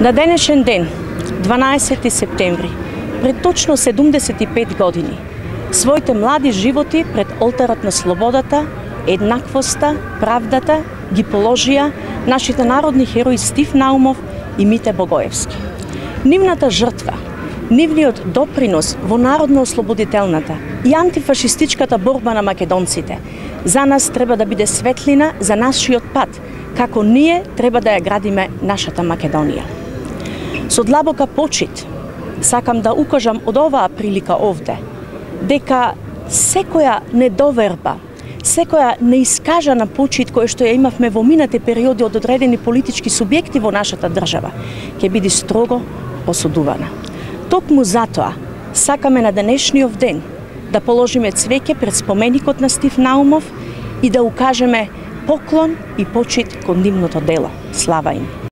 На денешен ден, 12 септември, пред точно 75 години, своите млади животи пред олтарот на слободата, еднаквоста, правдата ги положија нашите народни херои Стив Наумов и Мите Богоевски. Нивната жртва, нивниот допринос во народно-ослободителната и антифашистичката борба на македонците за нас треба да биде светлина за нашиот пат, како ние треба да ја градиме нашата Македонија. Со длабока почит сакам да укажам од оваа прилика овде дека секоја недоверба, секоја неискажана почит која што ја имавме во минати периоди од одредени политички субјекти во нашата држава ќе биде строго осудувана. Токму затоа сакаме на денешниот ден да положиме цвеќе пред споменикот на Стив Наумов и да укажеме поклон и почит кон нивното дело. Слава им!